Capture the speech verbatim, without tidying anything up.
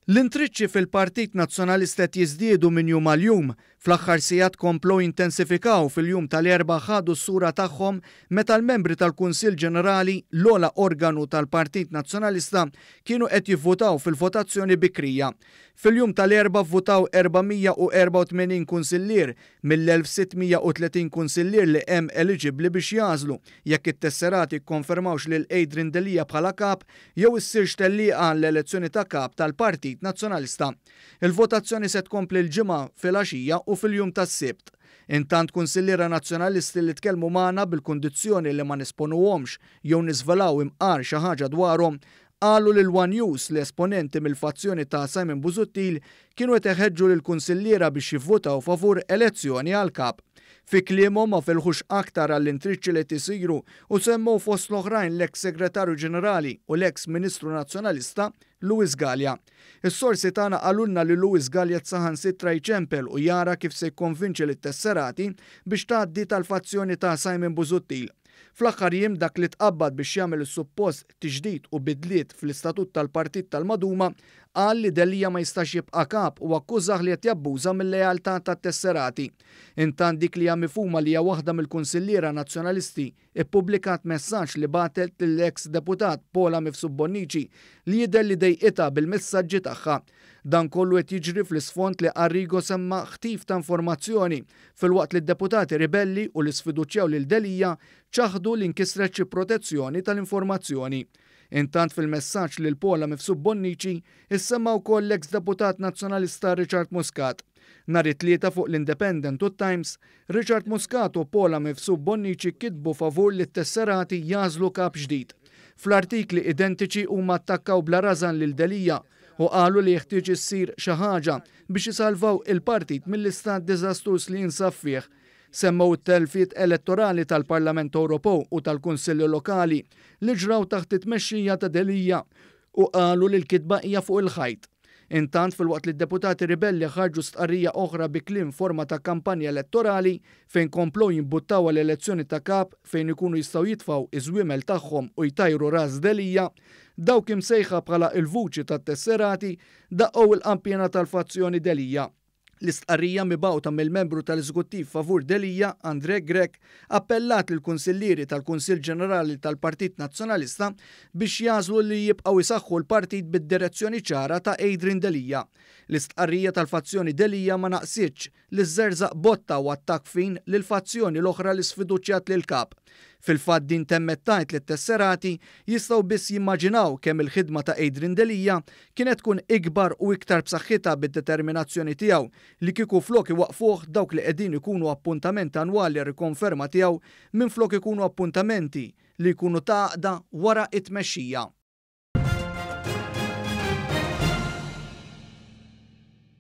L-intriċċi fil-Partit Nazzjonalista qed jiżdiedu minn jum għal jum. Fl-aħħar sigħat komplew jintensifikaw. Fil-jum tal-Erbgħa ħadu s-sura tagħhom meta l-membri tal-Kunsill Ġenerali, l-ogħla organu tal-Partit Nazzjonalista, kienu qed jivvutaw fil-votazzjoni bikrija. Fil-jum tal-Erbgħa vvutaw erba' mija u erbgħa u tmenin kunsillier mill-elf u sitt mija u tletin kunsillier li hemm eliġibbli biex jagħżlu jekk it-tesserati kkonfermawx lil Adrian Delia bħala kap jew issirx tellieqa l-elezzjoni ta' kap tal-Partit Nazzjonalista. Il-votazzjoni se tkompli l-Ġimgħa fil-għaxija u fil-jum tas-Sibt. Intant, kunsilliera nazzjonalisti li tkellmu magħna bil-kundizzjoni li ma nesponuhomx jew niżvelaw imqar xi ħaġa dwarhom qalu lil One News li esponenti mill-fazzjoni ta' Simon Busuttil kienu qed iħeġġu lil kunsilliera biex jivvutaw favur elezzjoni għal kap. Fi kliemhom, ma felħux aktar għall-intriċċi li tisiru u semmew fost l-oħrajn l-eks segretarju ġenerali u l-eks ministru nazzjonalista Louis Galea. Is-sorsi tagħna qalulna li Louis Galea saħansitra jċempel u jara kif se jkonvinċi lit-tesserati biex tgħaddi tal-fazzjoni ta' Simon Busuttil. Fl-aħħar jiem, dak li tqabbad biex jagħmel is-suppost tiġdid u bidliet fl-istatut tal-partit tal-Maduma qal li Delia ma jistax jibqa' kap u akkużah li qed jabbuża mill-lealtà tat-tesserati. Intant, dik li hija mifhuma li hija waħda mill-kunsilliera nazzjonalisti ippubblikat messaġġ li bagħtet lill-eks deputat Paula Mifsud Bonnici, li jidher li dejqitha bil-messaġġi tagħha. Dan kollu qed jiġri fl-isfond li Arrigo semma ħtif ta' informazzjoni, filwaqt li d-deputati ribelli u li sfiduċjaw lil Delia ċaħdu li nkisret xi protezzjoni tal-informazzjoni. Intant, fil-messaġġ lil Paula Mifsud Bonnici issemma wkoll l-eks deputat nazzjonalista Richard Muscat. Nhar it-Tlieta, fuq l-Independent u Times, Richard Muscat u Paula Mifsud Bonnici kitbu favur li t-tesserati jagħżlu kap ġdid. Fl-artikli identiċi huma attakkaw bla rażan lil Delia u qalu li jeħtieġ issir xi ħaġa biex isalvaw il-partit mill-istat diżastruż li jinsab fih. Semmew it-telfiet elettorali tal-Parlament Ewropew u tal-Kunsilli Lokali li ġraw taħt it-tmexxija ta' Delia u qalu li l-kitba hija fuq il-ħajt. Intant, filwaqt li d-deputati ribelli ħarġu stqarrija oħra bi kliem forma ta' kampanja elettorali fejn komplow jimbuttaw għall-elezzjoni ta' kap fejn ikunu jistgħu jitfgħu iż-żwiemel tagħhom u jtajru ras Delia, dawk imsejħa bħala il-vuċi tat-tesserati daqqow il-qanpiena tal-fazzjoni Delia. L-istqarrija mibgħuta mill-membru tal-Eżekuttiv favur Delia, Andre Grech, appellat lill-kunsillieri tal-Kunsill Ġenerali tal-Partit Nazzjonalista biex jagħżlu li jibqgħu jsaħħu l-partit bid-direzzjoni ċara ta' Adrian Delia. L-istqarrija tal-fazzjoni Delia ma naqsitx li żerżaq botta u attak fin lil fazzjoni l-oħra li sfiduċjat lil kap. Fil-fatt, din temmet tgħid li t-tesserati jistgħu biss jimmaġinaw kemm il-ħidma ta' Adrian Delia kienet tkun ikbar u iktar b'saħħitha bid-determinazzjoni tiegħu li kieku flok iwaqfuh dawk li qegħdin ikunu appuntamenti annwali rikonferma tiegħu minn flok ikunu appuntamenti li jkunu ta' wara it-tmexxija.